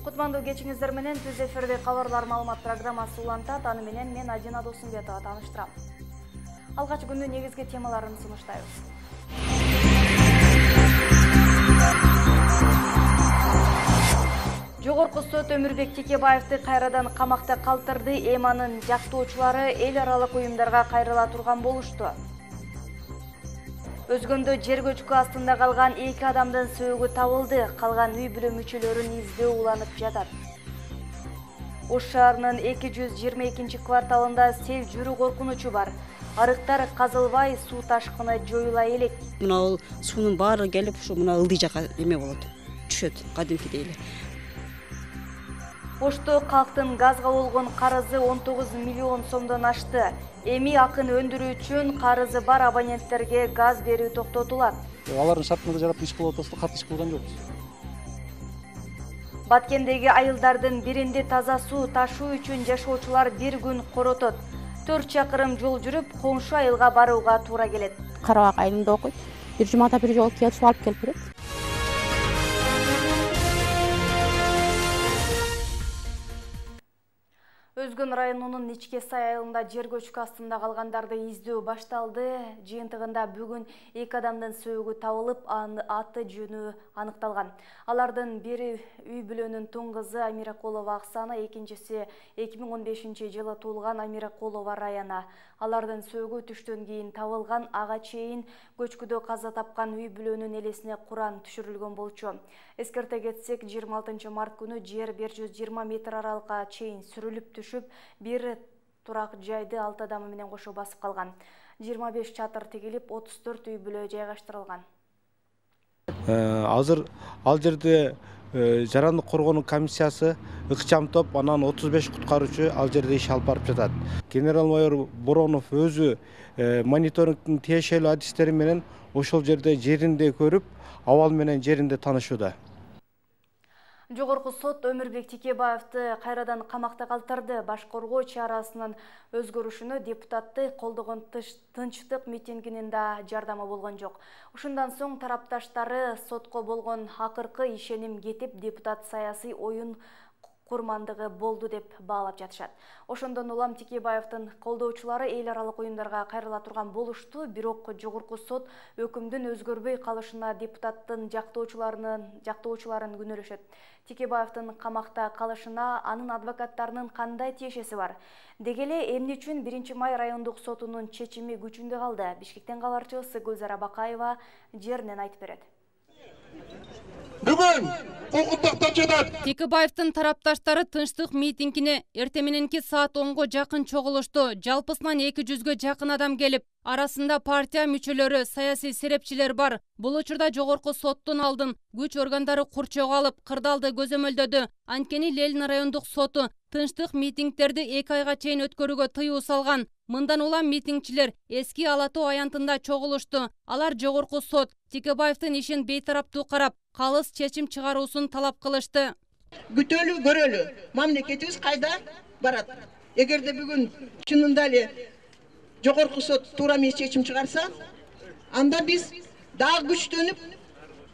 Кутмандуу кечиңиздер менен түз эфирде кабарлар маалымат программасы улантат. Аны менен мен Адина Досумбетова тааныштырам. Алгач күндүн негизги темаларын сунуштайбыз. Жогорку сот Өмүрбек Текебаевди кайрадан камакта калтырды. Эманын жактоочулары эл аралык уюмдарга кайрыла турган болушту. Өзгөндө жер көчкү астында калган 2 адамдын сөөгү табылды. Калган үй бүлө мүчөлөрүн издөө уланып жатат. Ош шаарынын 222 кварталында сел жүрүү коркунучу бар. Арыктар казылбай, суу ташкыны жоюла элек. Мына суунун баары келип, ушу мына ылдый жака эме болот. Түшөт кадимкидей эле. Ошто калктын газга болгон карызы 19 миллион сомдон ашты. Эми акын өндүрүү үчүн карызы бар абоненттерге газ берүү токтотулат. Алардын шартына жарап иш кылып атабыз, кат иш кылган жокпуз. Баткендеги айылдардын биринде таза суу ташуу үчүн жашоочулар бир күн коротот. 4 чакырым жол жүрүп, коңшу айылга барууга туура келет. Карабак айылында окуйт. Бир жумада бир жолу келип суу алып келип берет. Өзгөн районунун Ичке Сай айылында жер көчкү астында калгандарды издөө башталды. Жыйынтыгында бүгүн 2 адамдын сөөгү табылып, аты жөнү аныкталган. Алардын бири үй бүлөнүн тун кызы Амиракулова Аксана, экинчиси 2015 жылы туулган Амиракулова Раяна. Алардын сөөгү түштөн кийин табылган. Ага чейин көчкүдө каза тапкан үй бүлөнүн элесине Куран түшүрүлгөн болчу. Эскерте кетсек, 26 март күнү жер 120 метр аралыкка чейин сүрүлүп түшүп, бир турак жайды 6 адамы менен кошо басып калган. 25 чатыр тигилип, 34 үй бүлө жайгаштырылган. Азыр ал жерде жарандык коргоонун комиссиясы ыкчам топ, анан 35 куткаруучу ал жерде иш алып барып жатат. Генерал-майор Боронов өзү мониторингдин тиешелүү адистери менен ошол жерде жеринде көрүп, абал менен жеринде таанышууда. Жогорку сот Өмүрбек Текебаевди кайрадан камакта калтырды. Башкоргоо чарасынын өзгөрүшүнө депутатты колдогон тынчтык митингинин да жардамы болгон жок. Ушундан соң тарапташтары сотко болгон акыркы ишеним кетип, депутат саясий оюн курмандыгы болду деп баалап жатышат. Ошондон улам Текебаевдин колдоочулары эл аралык уюмдарга кайрыла турган болушту. Бирок жогорку сот өкүмдүн өзгөрбөй калышына депутаттын жактоочуларын күнөөлөшөт. Текебаевдин камакта калышына анын адвокаттарынын кандай тиешеси бар? Деги эле эмне үчүн 1-май райондук сотунун чечими күчүндө калды? Бишкектен кабарчыбыз Гүлзара Бакаева жеринен айтып берет. Бүгүн укуктуктан жатат. Текебаевдин тарапташтары тынчтык митингине эртең мененки саат 10го жакын чогулушту. Жалпысынан 200гө жакын адам келип, арасында партия мүчөлөрү, саясий серепчилер бар. Бул учурда жогорку соттун алдын күч органдары курчоого алып, кырдаалды көзөмөлдөдү. Анткени Ленин райондук соту тынчтык митингдерди 2 айга чейин өткөрүүгө тыюу салган. Мындан улам митингчилер эски Ала Тоо аянтында чогулушту. Алар жогорку сот Текебаевдин ишин бейтараптуу карап, калыс чечим чыгаруусун талап кылышты. Күтөлү, көрөлү. Мамлекетибиз кайда барат? Эгерде бүгүн чынында эле жогорку сот туура эмес чечим чыгарса, анда биз дагы күчтөнүп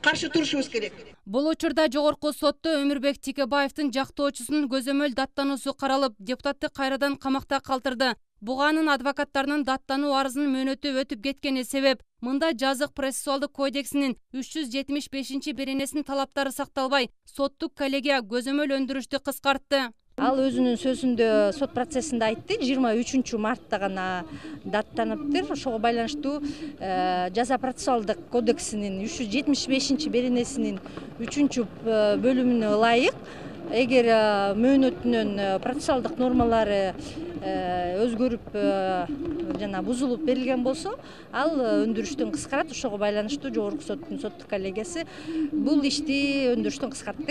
каршы турушубуз керек. Бул учурда жогорку сотто Өмүрбек Текебаевдин жактоочусунун көзөмөл даттануусу каралып, депутатты кайрадан камакта калтырды. Буга анын адвокаттарынын даттануу арызынын мөөнөтү өтүп кеткени себеп. Мында жазык процессуалдык кодексинин 375 беренесинин талаптары сакталбай, соттук коллегия көзөмөл өндүрүштү кыскартты. Ал өзүнүн сөзүндө сот процессинде айтты, 23 мартта гана даттаныптыр. Ошого байланыштуу жаза процессуалдык кодексинин 375 беренесинин 3-бөлүмүнө ылайык, эгер мөөнөтүнүн процессуалдык нормалары өзгөрүп жана бузулуп берилген болсо, ал өндүрүштөн кыскарат. Ошого байланыштуу жогорку соттун соттук коллегиясы бул ишти өндүрүштөн кыскартты.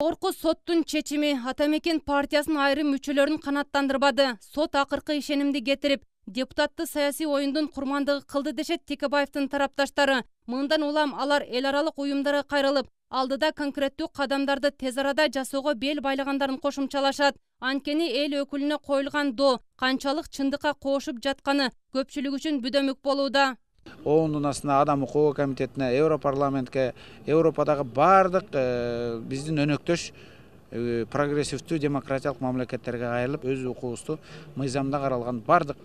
Жогорку соттун чечими Атамекен партиясынын айрым мүчөлөрүн канааттандырбады. Сот акыркы ишенимди кетирип, депутатты саясий оюндун курмандыгы кылды дешет Текебаевдин тарапташтары. Мындан улам алар эл аралык уюмдарга кайрылып, алдыда конкреттүү кадамдарды тез арада жасоого бел байлагандарын кошумчалашат. Анткени эл өкүлүнө коюлган доо канчалык чындыкка кошуп жатканы көпчүлүк үчүн бүдөмүк болууда. ООНдун астына адам укугу комитетине, Европарламентке, Европадагы бардык биздин өнөктөш прогрессивдүү демократиялык мамлекеттерге айрылып, өз укугубузду мыйзамда каралган бардык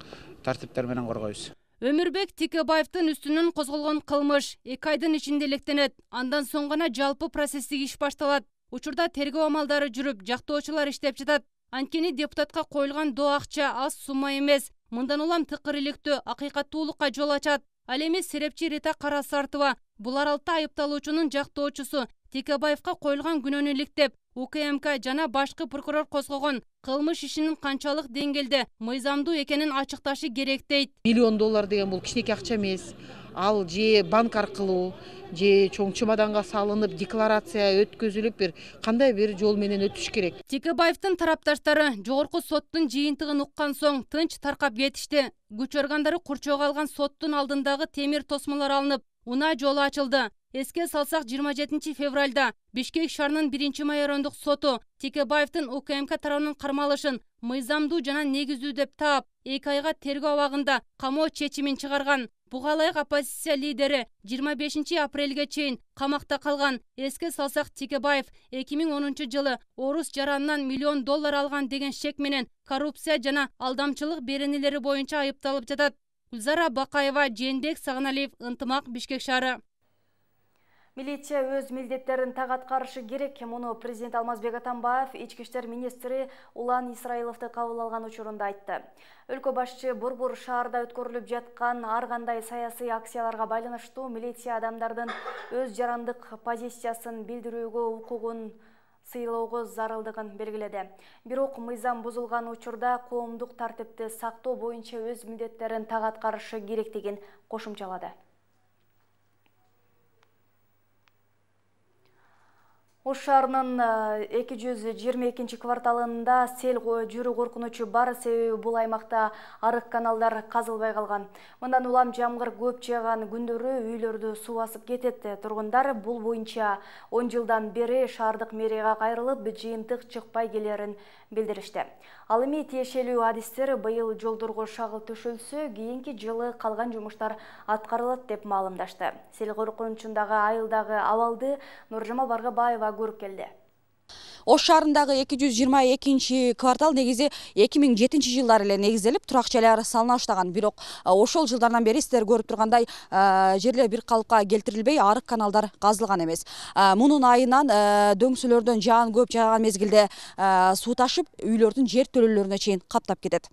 тартиптер менен коргойбуз. Өмүрбек Текебаевдин үстүнөн козголгон кылмыш 2 айдын ичинде электенет. Андан соң гана жалпы процесстик иш башталат. Учурда тергөө амалдары жүрүп, жактоочулар иштеп жатат. Анткени депутатка коюлган доо акча аз сумма эмес. Мындан улам тыкыр иликтөө акыйкаттуулукка жол ачат. Ал эми серепчи Рита Карасартова бул аралыкта айыпталуучунун жактоочусу Текебаевка коюлган күнөөнү иликтеп, УКМК жана башкы прокурор козгогон кылмыш ишинин канчалык деңгээлде мыйзамдуу экенин ачыкташы керек дейт. $1 миллион деген бул кичинекей акча эмес. Ал же банк аркылуу, же чоң чемоданга салынып, декларация өткөзүлүп, бир кандай бир жол менен өтүш керек. Текебаевдин тарапташтары жогорку соттун жыйынтыгын уккан соң тынч таркап кетишти. Күч органдары курчоого алган соттун алдындагы темир тосмолор алынып, унаа жолу ачылды. Эске салсак 27 февралда Бишкек шаарынын 1-майорондук соту Текебаевдин УКМК тарабынан кармалышын мыйзамдуу жана негиздүү деп таап, 2 айга тергөө абагында камоо чечимин чыгарган. Буга ылайык оппозиция лидери 25 апрелге чейин камакта калган. Эске салсак Текебаев 2010 жылы орус жаранынан $1 миллион алган деген шек менен коррупция жана алдамчылык беренелери боюнча айыпталып жатат. Гүлзара Бакаева, Жээнбек Сагыналиев, Ынтымак, Бишкек шаары. Милиция өз милдеттерин так аткарышы керек. Муну президент Алмазбек Атамбаев ички иштер министри Улан Исраиловду кабыл алган учурунда айтты. Өлкө башчы борбор шаарда өткөрүлүп жаткан ар кандай саясий акцияларга байланыштуу милиция адамдардын өз жарандык позициясын билдирүүгө укугун сыйлоого зарылдыгын белгиледи. Бирок мыйзам бузулган учурда коомдук тартипти сактоо боюнча өз милдеттерин так аткарышы керектигин кошумчалады. Ош шаарынын 222 кварталында сел жүрүү коркунучу бар, себеби бул аймакта арык каналдар казылбай калган. Мындан улам жамгыр көп жааган күндөрү үйлөрдү суу басып кетет. Тургундар бул боюнча 10 жылдан бери шаардык мэрияга кайрылып, жыйынтык чыкпай келерин билдиришти. Ал эми тиешелүү адистер быйыл жолдорго шагыл төшөлсө, кийинки жылы калган жумуштар аткарылат деп маалымдашты. Сел коркунучундагы айылдагы абалды Нуржамал Баргабаева көрүп келди. Ош шаарындагы 222 квартал негизи 2007 жылдары эле негизделип, турак жайлар салына баштаган. Бирок ошол жылдардан бери сиздер көрүп тургандай жерлер бир калыпка келтирилбей, арык каналдар казылган эмес. Мунун айынан дөңсөлөрдөн жаан көп жааган мезгилде суу ташып, үйлөрдүн жер төлөлөрүнө чейин каптап кетет.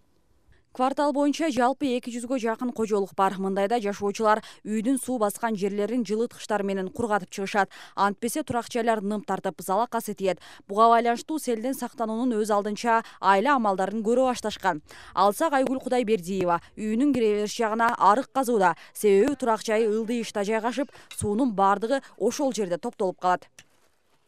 Квартал боюнча жалпы 200гө жакын кожолук бар. Мындайда жашоочулар үйдүн суу баскан жерлерин жылыткычтар менен кургатып чыгышат. Антпесе турак жайлар ным тартып, залакасы тиет. Буга байланыштуу селден сактануунун өз алдынча айла амалдарын көрө башташкан. Алсак Айгүл Кудайбердиева үйүнүн кире бериш жагына арык казууда. Себеби турак жайы ылдыйышта жайгашып, суунун бардыгы ошол жерде топтолуп калат.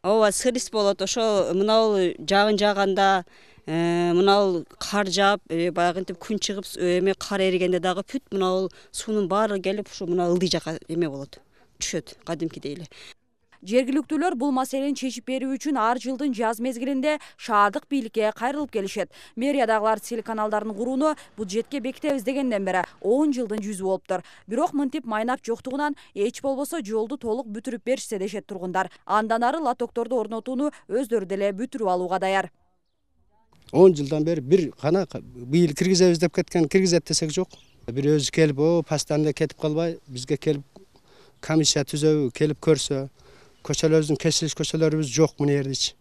Ооба, сырыс болот. Ошо мынау жагын жааганда мынау кар жаап, баягынтип күн чыгып, эме кар эригенде дагы бүт мынау суунун баары келип, ушу мына ылдый жака эме болот. Түшөт, кадимкидей эле. Жергиликтүүлөр бул маселени чечип берүү үчүн ар жылдын жаз мезгилинде шаардык бийликке кайрылып келишет. Мэриядагылар сел каналдарын курууну бюджетке бекитебиз дегенден бери 10 жылдын жүзү болуптур. Бирок мынтип майнап жоктугунан эч болбосо жолду толук бүтүрүп беришсе дешет тургундар. Андан ары лотокторду орнотууну өздөрү деле бүтүрүп алууга даяр. 10 жылдан бери бир гана быйыл киргизебиз деп кеткен, киргизет десек жок. Бир өзү келип, постоянно кетип калбай, бизге келип комиссия түзөбү, келип көрсө, көчөлөрүбүздүн кесилиш көчөлөрүбүз жок мына жердечи.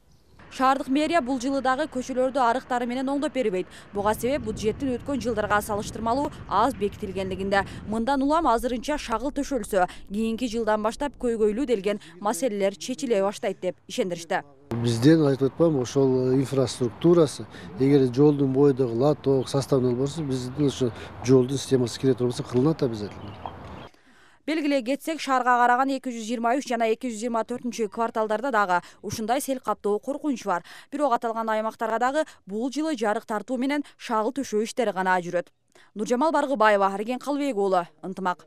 Шаардык мэрия бул жылы дагы көчөлөрдү арыктары менен оңдоп бербейт. Буга себеп бюджеттин өткөн жылдарга салыштырмалуу аз бекитилгендигинде. Мындан улам азырынча шагыл төшөлсө, кийинки жылдан баштап көйгөйлүү делген маселелер чечиле баштайт деп ишендиришти. Бизден айтып атпайм, ошол инфраструктурасы, эгер жолдун бойдогу лоток составный болбосо, биздин ошо жолдун системасы кире турбаса кылынат обязательно. Белгилей кетсек, шаарга караган 223 жана 224 кварталдарда дагы ушундай сел каптоо коркунуч бар. Бирок аталган аймактарга дагы бул жылы жарык тартуу менен шагыл төшөө иштери гана жүрөт. Нуржамал Баргыбаева, Арген Калбек уулу, Ынтымак.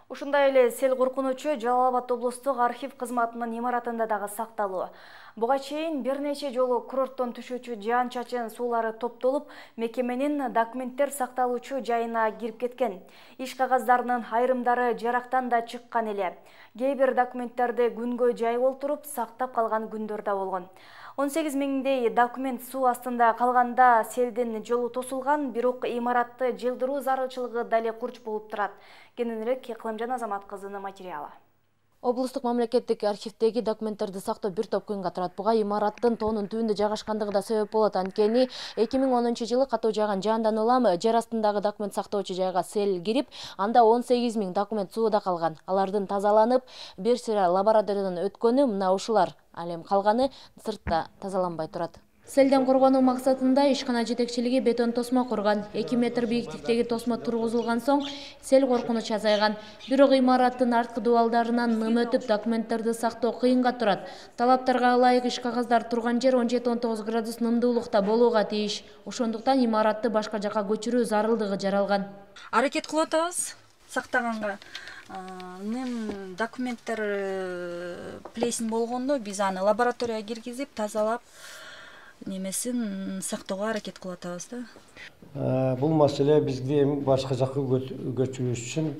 Ушундай эле сел коркунучу Жалал Абад облустук архив кызматынын имаратында дагы сакталуу. Буга чейин бир нече жолу курорттон түшүүчү жаан чачын суулары топтолуп, мекеменин документтер сакталуучу жайына кирип кеткен. Иш кагаздарынын айрымдары жарактан да чыккан эле. Кээ бир документтерди күнгө жайып олтуруп сактап калган күндөр да болгон. 18 миңдей документ суу астында калганда селдин жолу тосулган, бирок имаратты жылдыруу зарылчылыгы дале курч болуп турат. Кененирээк Кылымжан Азамат кызынын материалы. Облустук мамлекеттик архивдеги документтерди сактоо бир топ кыйынга турат. Буга имараттын тоонун түбүндө жайгашкандыгы да себеп болот. Анткени 2010-жылы катуу жааган жаандан улам жер астындагы документ сактоочу жайга сел кирип, анда 18 миң документ сууда калган. Алардын тазаланып, бир сыйра лабораториядан өткөнү мына ушулар. Ал эми калганы сыртта тазаланбай турат. Селден коргонуу максатында ишкана жетекчилиги бетон тосмо курган. 2 метр бийиктиктеги тосмо тургузулган соң сел коркунуч азайган. Бирок имараттын арткы дубалдарынан ным өтүп документтерди сактоо кыйынга турат. Талаптарга ылайык иш кагаздар турган жер 17-19 градус нымдуулукта болууга тийиш. Ошондуктан имаратты башка жакка көчүрүү зарылдыгы жаралган. Аракет кылып атабыз сактаганга. Ным документтер плесень болгондо биз аны лабораторияга киргизип, тазалап немесин сактоого аракет кылып атабыз да. Бул маселе бизге эми башка жакка көчүрүш үчүн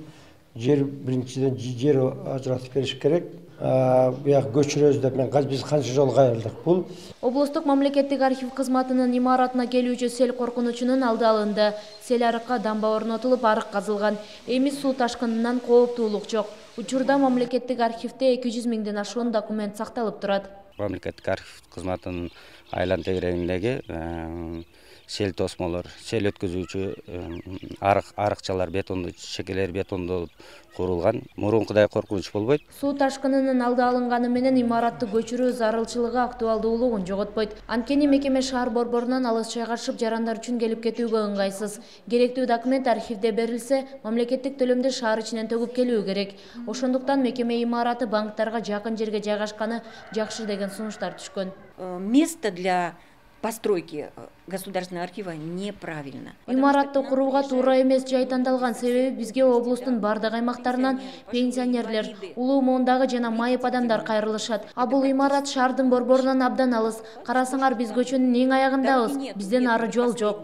жер биринчиден жер ажыратып бериш керек. Буяк көчүрөбүз деп биз канча жолу кайрылдык. Бул Облустук мамлекеттик архив кызматынын имаратына келүүчү сел коркунучунун алды алынды. Сел арыкка дамба орнотулуп, арык казылган. Эми суу ташкынынан кооптуулук жок. Учурда мамлекеттик архивде 200 миңден ашуун документ сакталып турат. Мамлекеттик архив кызматынын айлан тегерегиндеги сел тосмолор, сел өткөзүүчү арыкчалар бетондо, чекелер бетондо курулган. Мурункудай коркунуч болбойт. Суу ташкынынын алды алынганы менен имаратты көчүрүү зарылчылыгы актуалдуулугун жоготпойт. Анткени мекеме шаар борборунан алыс жайгашып, жарандар үчүн келип кетүүгө ыңгайсыз. Керектүү документ архивде берилсе, мамлекеттик төлөмдү шаар ичинен төгүп келүү керек. Ошондуктан мекеме имараты банктарга жакын жерге жайгашканы жакшы деген сунуштар түшкөн. Место для постройки государственного архива неправильно. Имаратты курууга туура эмес жай тандалган, себеби бизге облустун бардык аймактарынан пенсионерлер, улуу моондагы жана майып адамдар кайрылышат. А бул имарат шаардын борборунан абдан алыс. Карасаңар, биз көчөнүн эң аягындабыз. Бизден ары жол жок.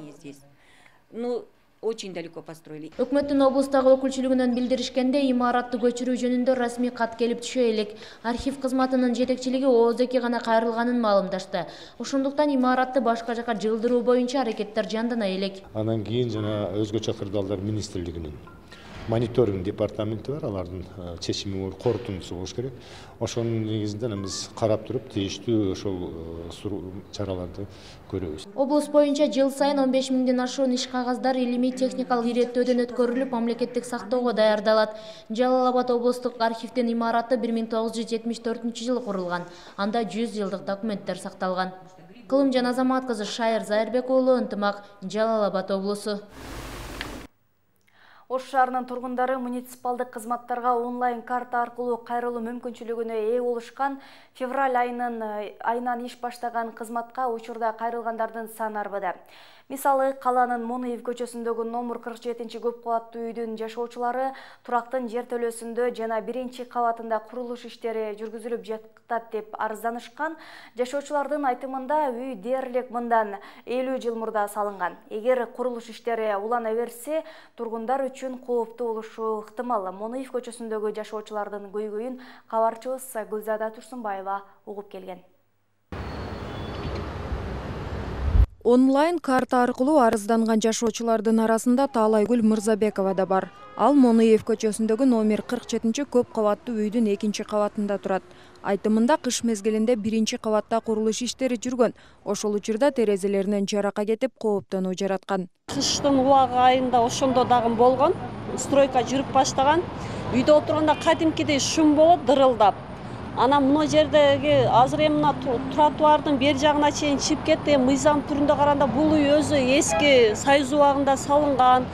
Ну, очень далеко построили. Өкмөттүн облустагы өкүлчүлүгүнөн билдиришкенде, имаратты көчүрүү жөнүндө расмий кат келип түшө элек. Архив кызматынын жетекчилиги ооз-эки гана кайрылганын маалымдашты. Ошондуктан имаратты башка жака жылдыруу боюнча аракеттер жандана элек. Анан кийин жана өзгөчө кырдаалдар министрлигинин мониторинг департаменти бар, алардын чечими корутундусу болуш керек. Ошонун негизинде биз карап туруп, тийиштүү ошол чараларды көрөбүз. Облус боюнча жыл сайын 15 миңден ашуун иш кагаздар илимий техникалык иреттөөдөн өткөрүлүп, мамлекеттик сактоого даярдалат. Жалал Абад облустук архивдин имараты 1974-жылы курулган. Анда 100 жылдык документтер сакталган. Кылымжан Азамат кызы, Шайыр Зайырбек уулу, Ынтымак, Жалал Абад облусу. Ош шаарынын тургундары муниципалдык кызматтарга онлайн карта аркылуу кайрылуу мүмкүнчүлүгүнө ээ болушкан. Февраль айынан иш баштаган кызматка учурда кайрылгандардын саны арбыды. Мисалы, каланын Моноев көчөсүндөгү номер 47 көп кабаттуу үйдүн жашоочулары турактын жер төлөөсүндө жана 1-кабатында курулуш иштери жүргүзүлүп жатат деп арызданышкан. Жашоочулардын айтымында үй дээрлик мындан 50 жыл мурда салынган. Эгер курулуш иштери улана берсе, тургундар үчүн кооптуу болушу ыктымал. Моноев көчөсүндөгү жашоочулардын көйгөйүн кабарчыбыз Гүлзада Турсунбаева угуп келген. Онлайн карта аркылуу арызданган жашоочулардын арасында Таалайгүл Мырзабекова да бар. Ал Моноев көчөсүндөгү номер 47 көп кабаттуу үйдүн 2-кабатында турат. Айтымында кыш мезгилинде 1-кабатта курулуш иштери жүргөн. Ошол учурда терезелеринен жарака кетип, кооптонуу жараткан. Кыштын убагы айында ошондо дагы болгон. Стройка жүрүп баштаган. Үйдө отурганда кадимкидей шум болот, дырылдап. Ана мына жердеги азыр эми мына тротуардын бер жагына чейин чыгып кетти. Мыйзам түрүндө караганда бул үй өзү эски Союз убагында салынган.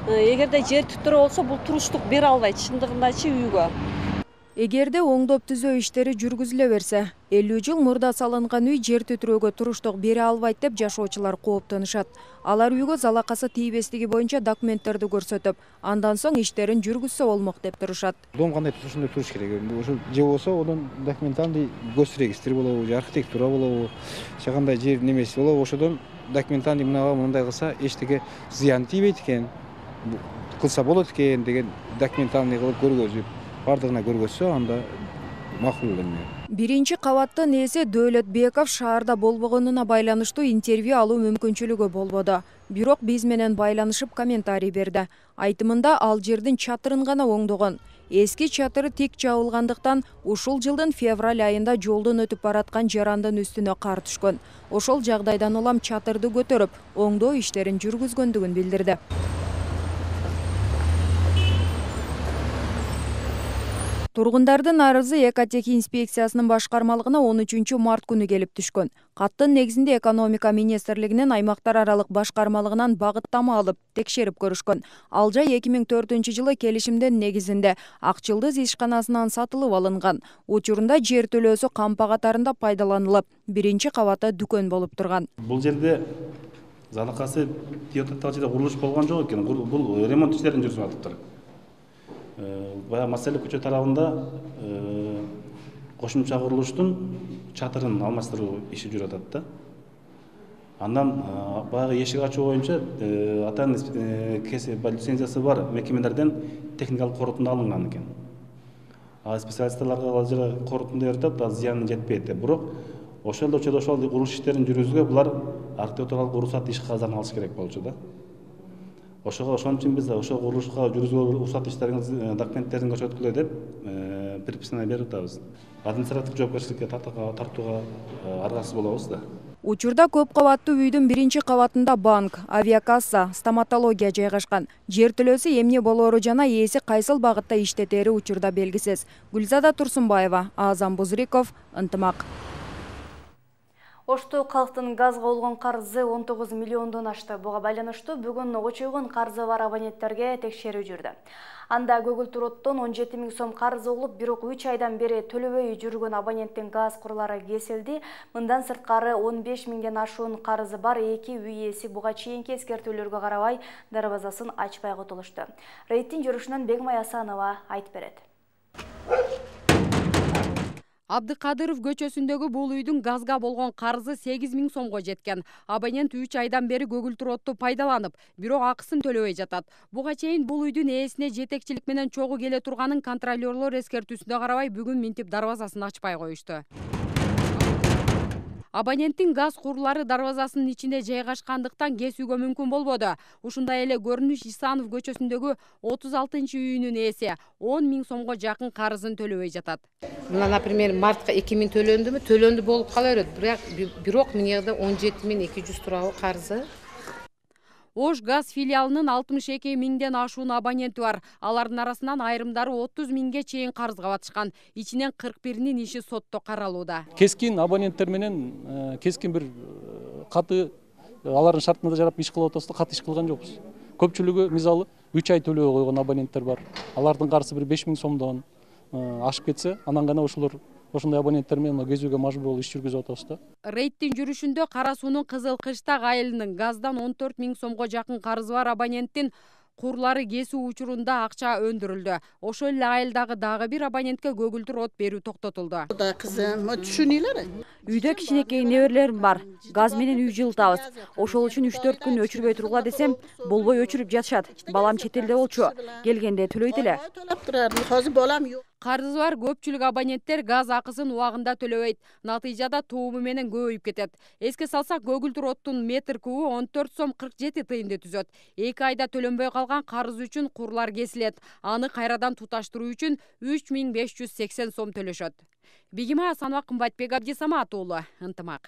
Эгерде жер түтүрө болсо бул туруштук бере албайт чындыгындачы үйгө. Эгерде оңдоп түзөө иштери жүргүзүлө берсе, 50 жыл мурда салынган үй жер түтүрөөгө туруштук бере албайт деп жашоочулар кооптонушат. Алар үйгө залакасы тийбестиги боюнча документтерди көрсөтүп, андан соң иштерин жүргүзсө болмок деп турушат. Дом кандай ошондой туруш керек. Ошо же болсо онун документальный госрегистр болобу, же архитектура болобу, же кандай жер немеси болобу, ошодон документальный мындай кылса эчтеке зыян тийбейт экен, кылса болот экен деген документальный кылып көргөзүп, бардыгына көргөзсө анда макул эме. Биринчи кабаттын ээси Дөөлөтбеков шаарда болбогонуна байланыштуу интервью алуу мүмкүнчүлүгү болбоду. Бирок биз менен байланышып комментарий берди. Айтымында ал жердин чатырын гана оңдогон. Эски чатыры тик жабылгандыктан ушул жылдын февраль айында жолдон өтүп бараткан жарандын үстүнө кар түшкөн. Ошол жагдайдан улам чатырды көтөрүп, оңдоо иштерин жүргүзгөндүгүн билдирди. Тургундардын арызы Экотех инспекциясынын башкармалыгына 13 март күнү келип түшкөн. Каттын негизинде экономика министрлигинин аймактар аралык башкармалыгынан багыттама алып, текшерип көрүшкөн. Ал жай 2004 жылы келишимдин негизинде Ак Жылдыз ишканасынан сатылып алынган. Учурунда жер төлөөсү кампа катарында пайдаланылып, биринчи кабатта дүкөн болуп турган. Бул жерде залакасы тиотаттагы жерде курулуш болгон жок экен. Бул ремонт иштерин жүргүзүп атыптыр. Баягы Маселе көчө тарабында кошумча курулуштун чатырын алмаштыруу иши жүрүп атат да. Андан баягы эшик ачуу боюнча атайын лицензиясы бар мекемелерден техникалык корутунду алынган экен. Специалисттерге ал жерде корутунду берип атат, зыяны жетпейт. Бирок ошол учурда ошол курулуш иштерин жүргүзүүгө булар архитектуралык уруксат иш кагазын алыш керек болчу да. Ошого ошон үчүн биз ошол курулушка жүргүзүүгө уруксат иштериңиз документтерин көрсөткүлө деп предписание берип атабыз. Административдик жоопкерчиликке тартууга аргасыз болобуз да. Учурда көп кабаттуу үйдүн биринчи кабатында банк, авиакасса, стоматология жайгашкан. Жер төлөөсү эмне болоору жана ээси кайсыл багытта иштетери учурда белгисиз. Гүлзада Турсунбаева, Азам Бузриков, Ынтымак. Ошту калктын газга болгон карызы 19 миллиондон ашты. Буга байланыштуу бүгүн очойгон карызы бар абоненттерге текшерүү жүрдү. Анда көгүлтүр оттон 17 000 сом карызы болуп, бирок 3 айдан бери төлөбөй жүргөн абоненттин газ курлары кесилди. Мындан сырткары 15 000ден ашуун карызы бар 2 үй ээси буга чейинки эскертүүлөргө карабай дарбазасын ачпай кутулушту. Рейдтин жүрүшүнөн Бегмай Асанова айтып берет. Абдыкадыров көчөсүндөгү бул үйдүн газга болгон карызы 8 000 сомго жеткен. Абонент 3 айдан бери көгүлтүр отту пайдаланып, бирок акысын төлөбөй жатат. Буга чейин бул үйдүн ээсине жетекчилик менен чогуу келе турганын контролерлор эскертүүсүнө карабай бүгүн минтип дарбазасын ачпай коюшту. Абоненттин газ курлары дарбазасынын ичинде жайгашкандыктан кесүүгө мүмкүн болбоду. Ушундай эле Көрүнүш Исанов көчөсүндөгү 36-үйүнүн ээси 10 000 сомго жакын карызын төлөбөй жатат. Мына, например, мартка 2 000 төлөндүмү? Төлөндү болуп кала берет. Бирок мына жерде 17 200 турабы карызы. Ош газ филиалынын 62 000ден ашуун абоненти бар. Алардын арасынан айрымдары 30 000ге чейин карызга батышкан. Ичинен 41-нин иши сотто каралууда. Кескин абоненттер менен кескин бир каты алардын шартына жарап иш кылып атабыз да, каты иш кылган жокпуз. Көпчүлүгү мисалы 3 ай төлөбөй койгон абоненттер бар. Алардын карызы бир 5 000 сомдон ашып кетсе, анан гана ошолор ошондой абоненттер менен кезүүгө мажбур болуп иш жүргүзүп атабыз да. Рейдтин жүрүшүндө Кара суунун Кызыл Кыштак айылынын газдан 14 000 сомго жакын карызы бар абоненттин курлары кесүү учурунда акча өндүрүлдү. Ошол эле айылдагы дагы бир абонентке көгүлтүр от берүү токтотулду. Кызым, түшүнүйлөр. Үйдө кичинекей неберелерим бар. Газ менен үй жылытабыз. Ошол үчүн 3-4 күн өчүрбөй тургула десем, болбой өчүрүп жатышат. Балам чет элде болчу. Келгенде төлөйт эле. Төлөп турар, азыр балам жок. Карызы бар көпчүлүк абоненттер газ акысын убагында төлөбөйт. Натыйжада тууму менен көбөйүп кетет. Эске салсак, көгүлтүр оттун метр кубу 14 сом 47 тыйынды түзөт. 2 айда төлөнбөй калган карыз үчүн курлар кесилет. Аны кайрадан туташтыруу үчүн 3580 сом төлөшөт. Бегимай Асанова, Кымбатбек Абдисамат уулу, Ынтымак.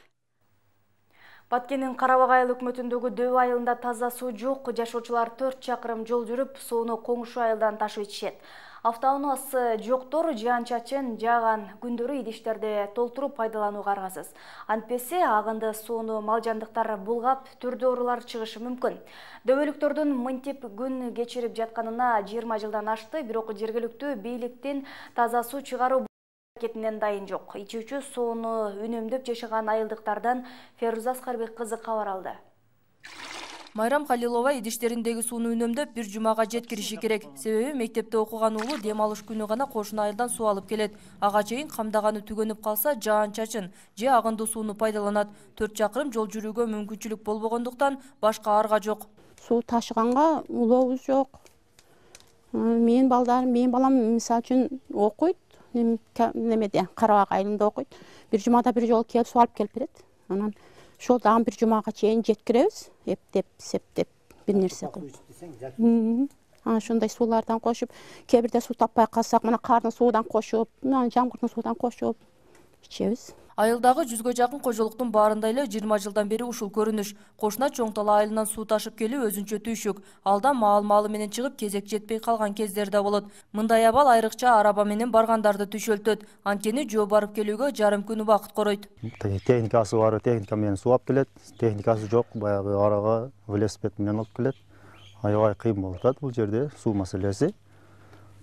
Баткендин Карабак айыл өкмөтүндөгү Дөбө айылында таза суу жок. Жашоочулар 4 чакырым жол жүрүп, сууну коңшу айылдан ташып ичишет. Автоунаасы жоктор жаан-чачын жааган күндөрү идиштерди толтуруп пайдаланууга аргасыз. Антпесе агынды сууну малжандыктар булгап, түрдүү оорулар чыгышы мүмкүн. Дөбөлүктөрдүн мынтип күн кечирип жатканына 20 жылдан ашты, бирок жергиликтүү бийликтин таза суу чыгаруу аракетинен дайын жок. Ичүүчү сууну үнөмдөп жашаган айылдыктардан Феруза Аскарбек кызы кабар алды. Майрам Халилова идиштериндеги сууну үнөмдөп бир жумага жеткириши керек. Себеби мектепте окуган уулу дем алыш күнү гана кошуна айылдан суу алып келет. Ага чейин камдаганы түгөнүп калса, жаан-чачын же агындуу сууну пайдаланат. 4 чакырым жол жүрүүгө мүмкүнчүлүк болбогондуктан башка арга жок. Суу ташыганга улообуз жок. Менин балам мисалы үчүн окуйт, немеде Карабак айылында окуйт. Бир жумада бир жолу келип суу алып келип берет. Анан ошол дагы бир жумага чейин жеткиребиз, эптеп, септеп бир нерсе кылып. Анан ошондой суулардан кошуп, кээ бирде суу таппай калсак, мына кардын суудан кошуп, жамгырдын суудан кошуп ичебиз. Айылдагы 100гө жакын кожолуктун баарында эле 20 жылдан бери ушул көрүнүш. Кошуна Чоң Тала айылынан суу ташып келүү өзүнчө түйшүк. Алда маал-маалы менен чыгып, кезек жетпей калган кездер да болот. Мындай абал айрыкча араба менен баргандарды түйшөлтөт. Анткени жөө барып келүүгө жарым күн убакыт коройт. Техникасы бар, техника менен суу алып келет. Техникасы жок, баягы арага велосипед менен алып келет. Аябай кыйын болуп атат бул жерде суу маселеси.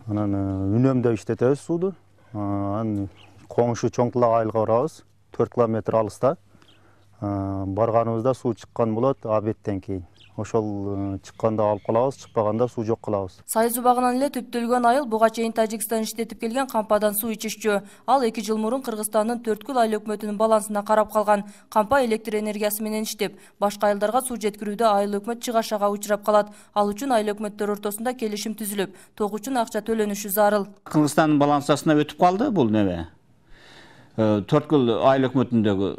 Анан үнөмдөй иштетебиз сууду. Анан коңшу Чоң Тала айылга барабыз. 4 километр алыста. Барганыбызда суу чыккан болот обедтен кийин. Ошол чыкканда алып калабыз, чыкпаганда суу жок кылабыз. Сайыз убагынан эле түптөлгөн айыл буга чейин Тажикстан иштетип келген кампадан суу ичишчү. Ал 2 жыл мурун Кыргызстандын Төрткүл айыл өкмөтүнүн балансына карап калган. Кампа электр энергиясы менен иштеп, башка айылдарга суу жеткирүүдө айыл өкмөт чыгашага учурап калат. Ал үчүн айыл өкмөттөр ортосунда келишим түзүлүп, ток үчүн акча төлөнүшү зарыл. Кыргызстандын балансасына өтүп калды бул неме. Төрткүл айыл өкмөтүндөгү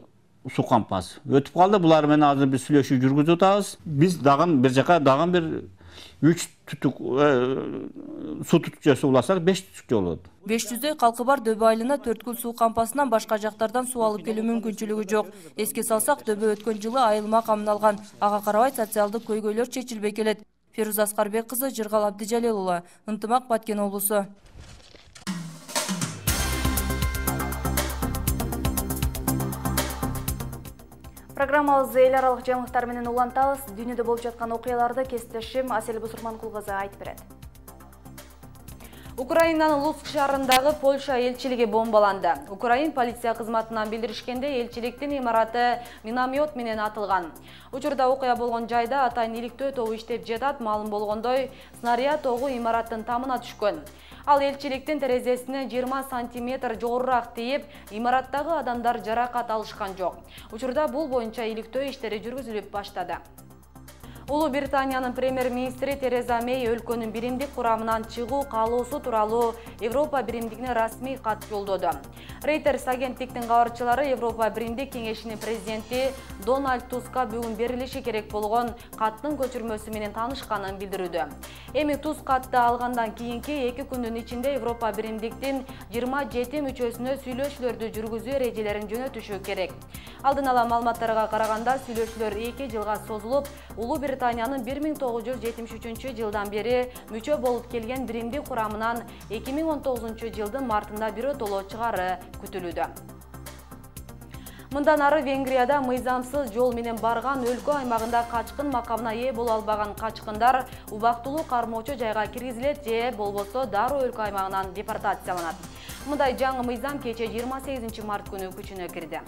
суу кампасы өтүп калды. Булар менен азыр биз сүйлөшүү жүргүзүп атабыз. Биз дагы бир жака дагы бир 3 түтүк суу түтүкчөсү уласак 5 түтүкчө болот. 500дөй калкы бар Дөбө айылына Төрткүл суу кампасынан башка жактардан суу алып келүү мүмкүнчүлүгү жок. Эске салсак, Дөбө өткөн жылы айыл макамын алган. Ага карабай социалдык көйгөйлөр чечилбей келет. Феруза Аскарбек кызы, Жыргал Абдижалил уулу, Ынтымак, Баткен облусу. Программабызды эл аралык жаңылыктар менен улантабыз. Дүйнөдө болуп жаткан окуяларды кесиптешим Асель Бусурманкул кызы айтып берет. Украинанын Луцк шаарындагы Польша элчилиги бомбаланды. Украин полиция кызматынан билдиришкенде, элчиликтин имараты миномет менен атылган. Учурда окуя болгон жайда атайын иликтөө тобу иштеп жатат. Маалым болгондой, снаряд тогу имараттын тамына түшкөн. Ал элчиликтин терезесине 20 сантиметр жогорураак тийип, имараттагы адамдар жаракат алышкан жок. Учурда бул боюнча иликтөө иштери жүргүзүлүп баштады. Улуу Британиянын премьер-министри Тереза Мэй өлкөнүн биримдик курамынан чыгуу каалоосу тууралуу Европа биримдигине расмий кат жолдоду. Reuters агенттиктин кабарчылары Европа биримдик кеңешинин президенти Дональд Туска бүгүн берилиши керек болгон каттын көчүрмөсү менен таанышканын билдирүүдө. Эми Туск катты алгандан кийинки 2 күндүн ичинде Европа биримдиктин 27 мүчөсүнө сүйлөшүүлөрдү жүргүзүү эрежелерин жөнөтүшү керек. Алдын ала маалыматтарга караганда, сүйлөшүүлөр 2 жылга созулуп, Улуу Британиянын 1973 жылдан бери мүчө болуп келген биримдик курамынан 2019 жылдын мартында биротоло чыгары күтүлүүдө. Мындан ары Венгрияда мыйзамсыз жол менен барган өлкө аймагында качкын макамына ээ боло албаган качкындар убактылуу кармоочу жайга киргизилет же болбосо дароо өлкө аймагынан депортацияланат. Мындай жаңы мыйзам кече 28 март күнү күчүнө кирди.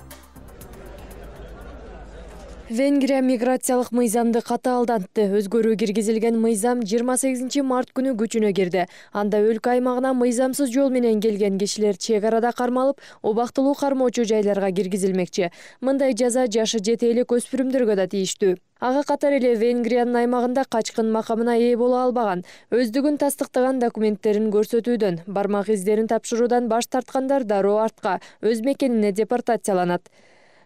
Венгрия миграциялык мыйзамды катаалдантты. Өзгөрүү киргизилген мыйзам 28 март күнү күчүнө кирди. Анда өлкө аймагына мыйзамсыз жол менен келген кишилер чек арада кармалып, убактылуу кармоочу жайларга киргизилмекчи. Мындай жаза жашы жете элек өспүрүмдөргө да тийиштүү. Ага катар эле Венгриянын аймагында качкын макамына ээ боло албаган, өздүгүн тастыктаган документтерин көрсөтүүдөн, бармак издерин тапшыруудан баш тарткандар дароо артка, өз мекенине депортацияланат.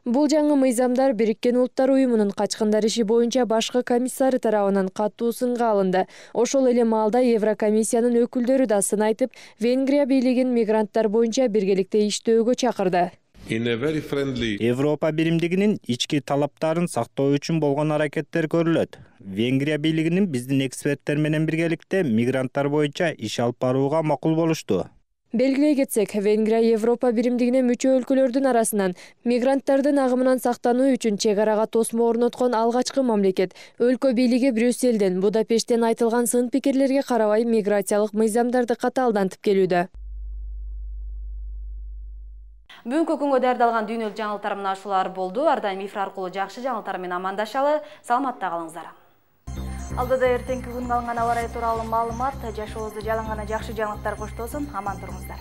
Бул жаңы мыйзамдар Бириккен Улуттар уюмунун качкындар иши боюнча башкы комиссары тарабынан катуу сынга алынды. Ошол эле маалда Еврокомиссиянын өкүлдөрү да сын айтып, Венгрия бийлигин мигранттар боюнча биргеликте иштөөгө чакырды. Европа биримдигинин ички талаптарын сактоо үчүн болгон аракеттер көрүлөт. Венгрия бийлигинин биздин эксперттер менен биргеликте мигранттар боюнча иш алып барууга макул болушту. Белгилей кетсек, Венгрия Европа биримдигине мүчө өлкөлөрдүн арасынан мигранттардын агымынан сактануу үчүн чек арага тосмо орноткон алгачкы мамлекет. Өлкө бийлиги Брюсселден, Будапешттен айтылган сын пикирлерге карабай миграциялык мыйзамдарды катаалдантып келүүдө. Бүгүнкү күнгө даярдалган дүйнөлүк жаңылыктар мына ушулар болду. Ар дайым эфир аркылуу жакшы жаңылыктар менен амандашалы. Саламатта калыңыздар. Алдыда эртеңки күнгө алынган аба ырайы тууралуу маалымат, жашообузду жалын гана жакшы жаңылыктар коштосун. Аман туруңуздар.